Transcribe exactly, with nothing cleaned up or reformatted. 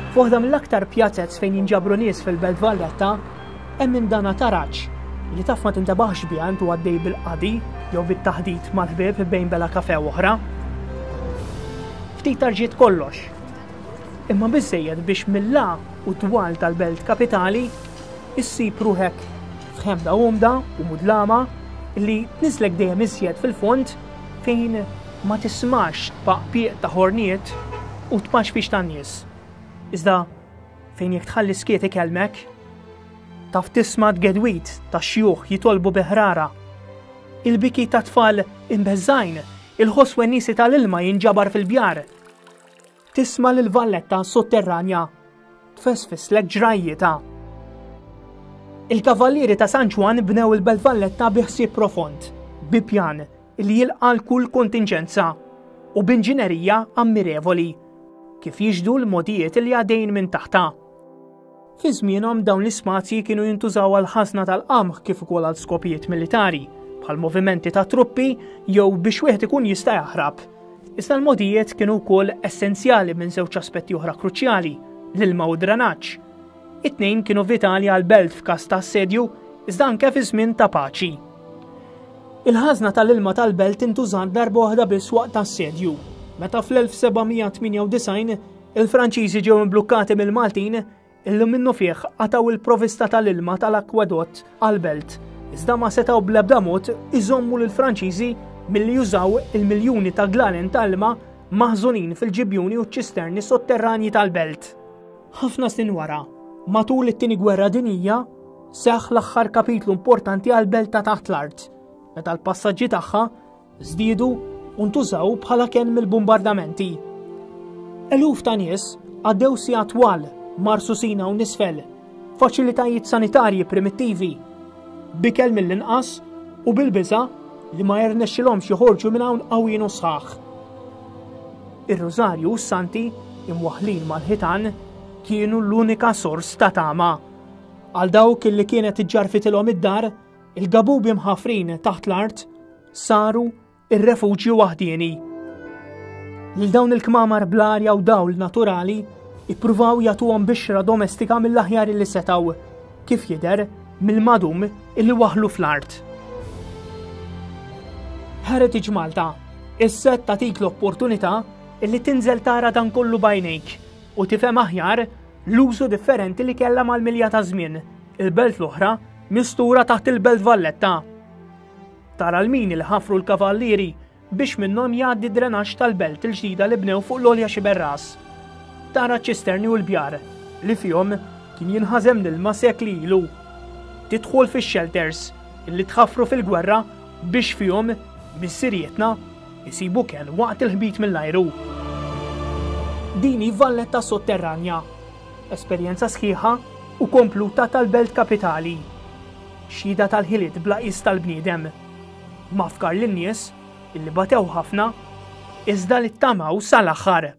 F'waħda mill-aktar pjazez fejn jinġabru nies fil-Belt Valletta, hemm indana taraġ li taf ma tintebaħx biha intu għaddej bil-qadi jew bit-taħdit mal-ħbieb bejn bela kafe oħra. Ftit tarġiet kollox. Imma biżejjed biex mill u twal tal-belt kapitali issib ruħek f'ħemda umda u mudlama li tniżlek dejjem iżjed fil-fond fejn ma tismax tpaqpiq ta' ħorniet u tpaxpix tan-nies. Iżda fejn jekk tħalli skiet ikellmek, taf tisma' tgedwit ta' xjuħ jitolbu biħrara. Il-biki ta' tfal imbeżżajn, il-ħoss wennisi tal-ilma jinġabar fil-bjar. Tisma' lil Valletta sotterranja tfesfislek ġrajjieta. Il-kavallieri ta' San Ġwann bnew il-Belt Valletta bi ħsieb profond, bi pjan li jilqa' kull kontinġenza u b'inġinerija ammirevoli kif jixhdu l-mogħdijiet li għaddejn minn taħta. Fi żmienhom dawn l-ispazji kienu jintużaw għal ħażna tal-qamħ kif ukoll għal skopijiet militari, bħal movimenti ta' truppi jew biex wieħed ikun jista' jaħrab. Iżda l-mogħdijiet kienu wkoll essenzjali minn żewġ aspetti oħra kruċjali, l-ilma u d-drenaġġ. It-tnejn kienu vitali għal belt f'każ ta' assedju, iżda anke fi żmien ta' paċi. Il-ħażna tal-ilma tal-belt intużat darba waħda biss waqt assedju, meta fl-elf seba' mija tmienja u disgħin il-Franċiżi ġew imblukkati mill-Maltin illi minnu fih qataw il-provista tal-ilma tal-akwadott għal-belt, iżda ma setgħu bl-ebda mod iżommu lill-Franċiżi milli jużaw il-miljuni ta' glalen tal-ilma maħżunin fil-ġibjuni u ċ-ċisterni sotterranji tal-belt. Ħafna snin wara, matul it-Tieni Gwerra Dinjija, seħħ l-aħħar kapitlu importanti għal-belt ta' taħt l-art, meta l-passaġġi tagħha żdiedu u ntużaw bħala kenn mill-bombardamenti. Eluf ta' nies għaddew sigħat twal marsusin u nisfel, faċilitajiet sanitarji primittivi, bikel mill-inqas u bil-biża' li ma jirnexxilhomx joħorġu minn hawn qawwin u sħaħ. Ir-Rużarju u s-Santi imwaħħlin mal-ħitan kienu l-unika sors ta' tama. Għal dawk li kienet iġġarfitilhom id-dar, il-gabubi mħafrin taħt l-art saru ir-refuġju waħdieni. Lil dawn il-kmamar bl-arja u dawl naturali ippruvaw jagħtuhom bixra domestika mill-aħjar li setgħu, kif jidher mill-madum illi waħlu fl-art. Heritage Malta, is-set tagħtik l-opportunità illi tinżel tara dan kollu b'għajnejk u tifhem aħjar l-użu differenti li kellha mal-milja ta' żmien, il-belt l-oħra mistura taħt il-Belt Valletta. Tara l-mini li ħafru l-kavallieri biex minnhom jgħaddi drenaġġ tal-belt il-ġdida li bnew fuq l-għolja Xiberras. Tara ċ-ċisterni u l-bjar li fihom kien jinħażem l-ilma sekli ilu. Tidħol fix-shelters illi tħaffru fil-gwerra biex fihom missirietna jisibu kenn waqt il-ħbit mill-ajru. Din hi Valletta sotterranja, esperjenza sħiħa u kompluta tal-belt kapitali. Xhieda tal-ħiliet bla qis tal-bniedem. Mafkar lin-nies illi batew ħafna iżda li ttamaw sal-aħħar.